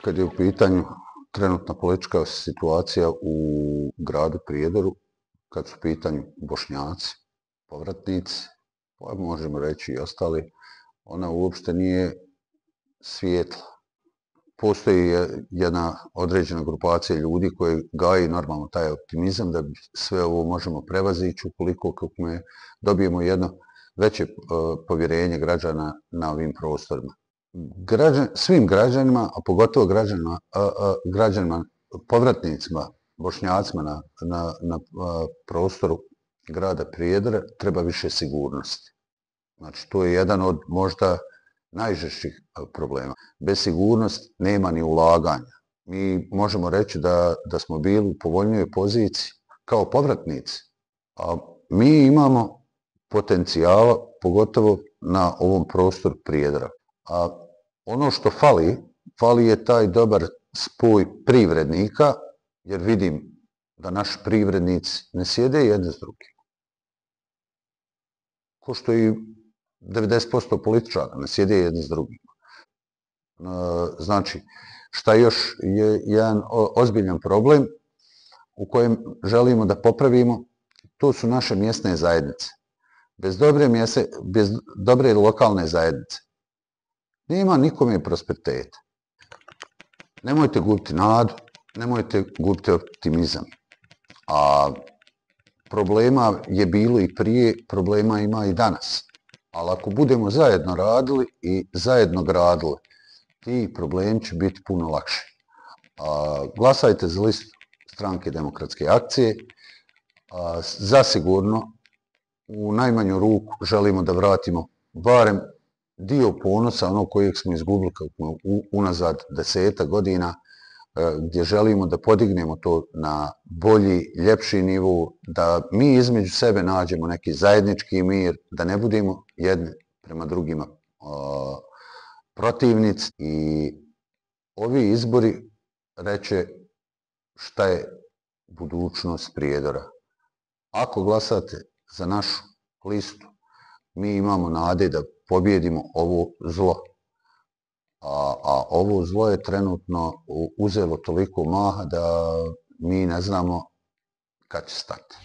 Kad je u pitanju trenutna politička situacija u gradu Prijedoru, kad su u pitanju Bošnjaci, povratnici, pa možemo reći i ostali, ona uopšte nije svijetla. Postoji jedna određena grupacija ljudi koji gaji normalno taj optimizam da sve ovo možemo prevazići ukoliko dobijemo jedno veće povjerenje građana na ovim prostorima. Svim građanima, a pogotovo građanima, povratnicima, Bošnjacima na prostoru grada Prijedora treba više sigurnosti. Znači, to je jedan od možda najžešćih problema. Bez sigurnosti nema ni ulaganja. Mi možemo reći da smo bili u povoljnijoj poziciji kao povratnici, a mi imamo potencijala, pogotovo na ovom prostoru Prijedora. A ono što fali je taj dobar spoj privrednika, jer vidim da naši privrednici ne sjede jedni s drugim. Ko što i 90% političara ne sjede jedni s drugim. Znači, šta još je jedan ozbiljan problem u kojem želimo da popravimo, to su naše mjesne zajednice. Bez dobre lokalne zajednice nema nikome prosperiteta. Nemojte gubiti nadu, nemojte gubiti optimizam. A problema je bilo i prije, problema ima i danas. Ali ako budemo zajedno radili i zajedno gradili, ti problemi će biti puno lakši. Glasajte za listu Stranke demokratske akcije. Zasigurno, u najmanju ruku želimo da vratimo barem dio ponosa, onog kojeg smo izgubili unazad 10 godina, gdje želimo da podignemo to na bolji, ljepši nivo, da mi između sebe nađemo neki zajednički mir, da ne budemo jedni prema drugima protivnici. I ovi izbori reće šta je budućnost Prijedora. Ako glasate za našu listu, mi imamo nade da pobjedimo ovo zlo. A ovo zlo je trenutno uzelo toliko maha da mi ne znamo kad će stati.